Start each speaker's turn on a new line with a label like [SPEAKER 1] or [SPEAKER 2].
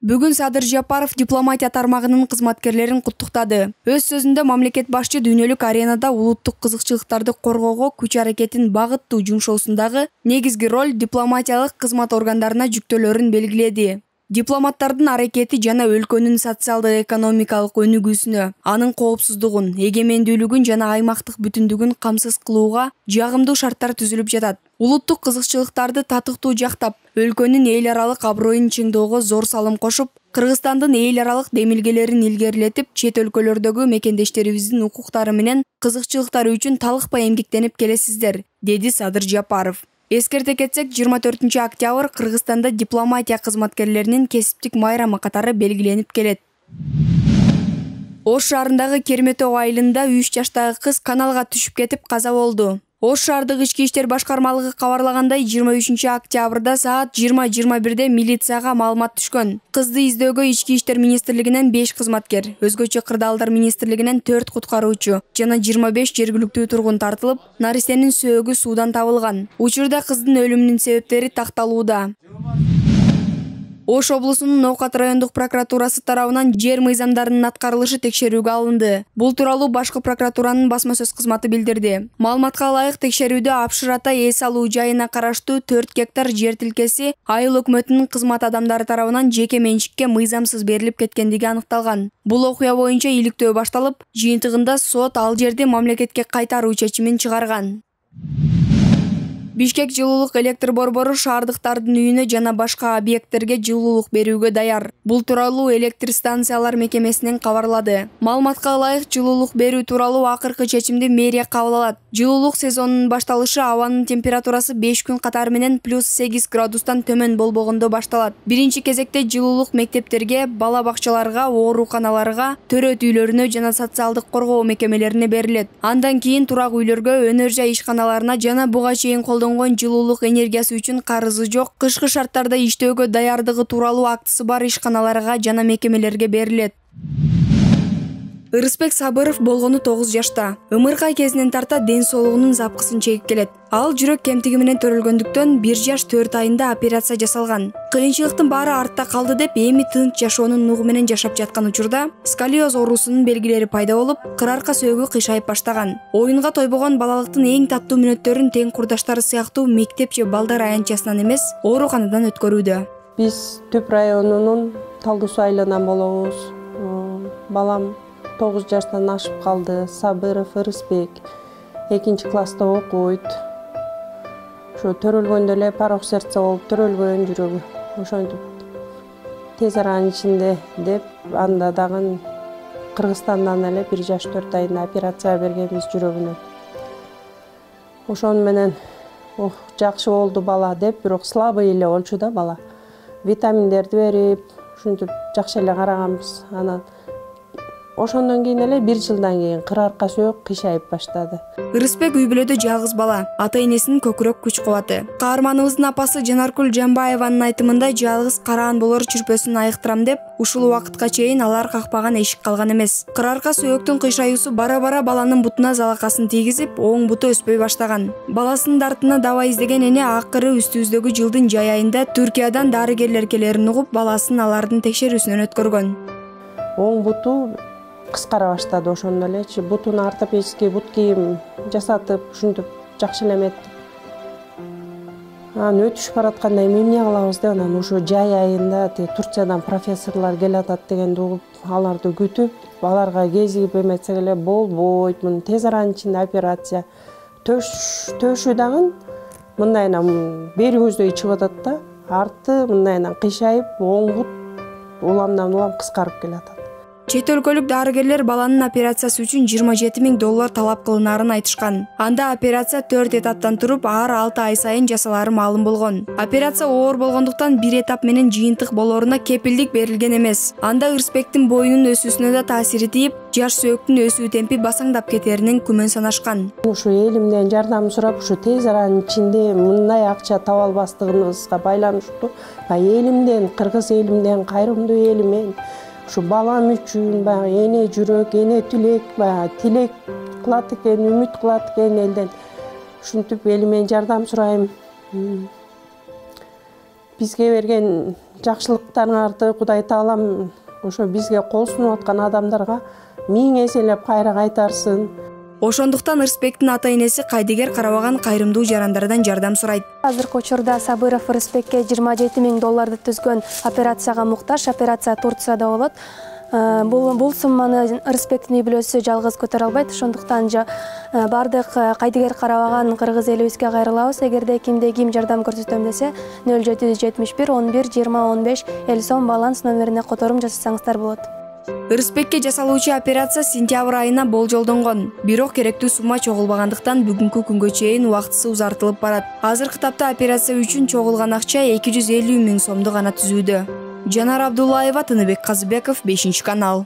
[SPEAKER 1] Бүгүн Садыр Жапаров дипломатия тармагынын кызматкерлерин куттуктады. Өз сөзүндө мамлекет башчы дүйнөлүк аренада улуттук кызыкчылыктарды коргоого күч-аракетин багыттуу жумшоосундагы негизги роль дипломатиялык кызмат органдарына жүктөөлөрүн белгиледи. Дипломаттардын аракети жана өлкөнүн социалдык-экономикалык өнүгүүсүнө, анын коопсуздугун, эгемендүүлүгүн жана аймактык бүтүндүгүн камсыз кылууга жагымдуу шарттар түзүлүп жатат. Улуттук кызыкчылыктарды татыктуу жактап, өлкөнүн эл аралык аброюн чыңдоого зор салым кошуп, Кыргызстандын эл аралык демилгелерин илгерилетип, чет өлкөлөрдөгү мекендештерибиздин укуктары менен кызыкчылыктары үчүн талыкпай эмгектенип келесиздер, деди Садыр Жапаров. Эскерте кетсек, 24 октябрь Кыргызстанда дипломатия кызматкерлеринин кесиптик майрамы катары белгиленип келет. Ош шаарындагы Керметөө айылында 3 жаштагы кыз каналга түшүп кетип каза болду. Ош шаардык ички иштер башкармалыгы кабарлагандай, 23 октябрда саат 20:21 милицияга маалымат түшкөн. Кызды издөөгө Ички иштер министрлигинен 5 кызматкер, өзгөчө кырдаалдар министрлигинен 4 куткаруучу жана 25 жергиликтүү тургун тартылып, наристенин сөөгү суудан табылган. Учурда кыздын өлүмүнүн себептери такталууда. Ош облусунун Ноокат райондук прокуратурасы тарабынан жер мыйзамдарынын аткарылышы текшерүүгө алынды. Бул тууралуу Башкы прокуратуранын басма сөз кызматы билдирди. Маалыматка ылайык, текшерүүдө Апшыр Ата эс алуу жайына караштуу 4 гектар жер тилкеси айыл өкмөтүнүн кызмат адамдары тарабынан жеке менчикке мыйзамсыз берилип кеткендиги аныкталган. Бул окуя боюнча иликтөө башталып, жыйынтыгында сот ал жерди мамлекетке кайтаруу чечимин чыгарган. Бишкек жылуулук электр борбору шаардыктардын үйүнө жана башка объекттерге жылуулук берүүгө даяр. Бул тууралуу электр станциялар мекемесинен кабарлады. Маалыматка ылайык, жылуулук берүү тууралуу акыркы чечимди мэрия кабыл алат. Жылуулук сезонунун башталышы абанын температурасы 5 күн катары менен +8 градустан төмөн болбогондо башталат. Биринчи кезекте жылуулук мектептерге, бала бакчаларга, ооруканаларга, төрөт үйлөрүнө жана социалдык коргоо мекемелерине берилет. Андан кийин турак үйлөргө, өнөр жай ишканаларына жана буга чейин жылуулук энергиясы үчүн карызы жок, кышкы шарттарда иштөөгө даярдыгы тууралуу актысы бар ишканаларга жана мекемелерге берилет. Ырысбек Сабыров болгону 9 жашта. Ымыркай кезинен тарта ден соолугунун запкысын чегип келет. Ал жүрөк кемтиги менен төрөлгөндүктөн 1 жаш 4 айында операция жасалган. Кыйынчылыктын баары артта калды деп, эми тынч жашоонун нугу менен жашап жаткан учурда сколиоз оорусунун белгилери пайда болуп, кыр арка сөөгү кыйшайып баштаган. Оюнга тойбогон балалыктын эң таттуу мүнөттөрүн тең курдаштары сыяктуу мектеп же балдар аянтчасынан эмес, ооруканадан өткөрүүдө.
[SPEAKER 2] Биз Түп районунун Талдуу Суу айылынан болобуз. Балам 9 жаштан ашып калды. Сабыров Ырысбек 2-класста окуйт. Ошо төрөлгөндө эле порок сердца болуп төрөлгөн жүрөгү. Ошентип тез аранын ичинде деп, анда дагы Кыргызстандан эле 1 жаш 4 айында операция бергенбиз жүрөгүнө. Ошону менен жакшы болду бала деп, бирок слабый эле болчу да бала. Витаминдерди берип, ушинтип жакшы эле караганбыз. Анан ошондон кийин эле 1 жылдан кийин кыр арка сөөк кыйшайып баштады.
[SPEAKER 1] Ырысбек үй бүлөдө жалгыз бала, ата-энесинин көкүрөк күч-кубаты. Каарманыбыздын апасы Жанаркүл Жамбаеванын айтымында, жалгыз караан болор чүрпөсүн айыктырам деп, ушул убакытка чейин алар какпаган эшик калган эмес. Кыр арка сөөктүн кыйшаюусу бара-бара баланын бутуна залакасын тийгизип, оң буту өспөй баштаган. Баласынын дартына даба издеген эне акыры үстүбүздөгү жылдын жай айында Түркиядан дарыгерлер келерин угуп, баласын алардын текшерүүсүнөн өткөргөн.
[SPEAKER 2] Оң буту кыскара баштады ошондо элечи. Бутуна ортопедический бут кийим жасатып, ушинтип жакшы эле эметтип. Анан өтүшүп баратканда эмне кылабыз деп, анан ошо жай айында Турциядан профессорлор келатат дегенди угуп, аларды күтүп, аларга кезигип эметсек эле болбойт, муну тез аранын ичинде операция. Төшү дагы мындайынан бери көздөй чыгып атат да, арты мындайынан кыйшайып, оң бут уламдан улам кыскарып келатат.
[SPEAKER 1] Чет өлкөлүк дарыгерлер баланын операциясы үчүн $20,000 талап кылынаарын айтышкан. Анда операция 4 этаптан туруп, ар 6 ай сайын жасалары маалым болгон. Операция оор болгондуктан 1 этап менен жыйынтык болоруна кепилдик берилген эмес. Анда Ырысбектин боюнун өсүүсүнө да таасири тийип, жаш сөөктүн өсүү темпи басаңдап кетеринен күмөн санашкан.
[SPEAKER 2] Ушу элимден жардам сурап, ушу тез аранын ичинде мындай акча таба албастыгыбызга байланыштуу. Элимден, кыргыз элимден, кайрымдуу элимен ушу балам үчүн эне жүрөк, эне тилек, тилек кылат экен, үмүт кылат экен элден. Ушинтип элимен жардам сурайм. бизге берген жакшылыктарыңарды Кудай Таалам ошо бизге кол сунуп аткан адамдарга миң эселеп кайра кайтарсын.
[SPEAKER 1] Ошондуктан Ырысбектин ата-энеси кайдыгер карабаган кайрымдуу жарандардан жардам сурайт.
[SPEAKER 3] Азыркы учурда Сабыров Ырысбекке 27 000 долларды түзгөн операцияга муктаж. Операция Турцияда болот. Бул сумманы Ырысбектин үй бүлөсү жалгыз көтөрө албайт. Ошондуктан бардык кайдыгер карабаган кыргыз элибизге кайрылабыз. Эгерде кимде ким жардам көрсөтөм десе 0771 11 20 15 50 сом баланс номерине которум жасасаңыздар болот.
[SPEAKER 1] Ырысбекке жасалуучу операция сентябрь айына болжолдонгон. Бирок керектүү сумма чогулбагандыктан бүгүнкү күнгө чейин убактысы узартылып барат. Азыркы тапта операция үчүн чогулган акча 250 000 сомду гана түзүүдө. Жанар Абдуллаева, Тыныбек Казыбеков, 5 канал.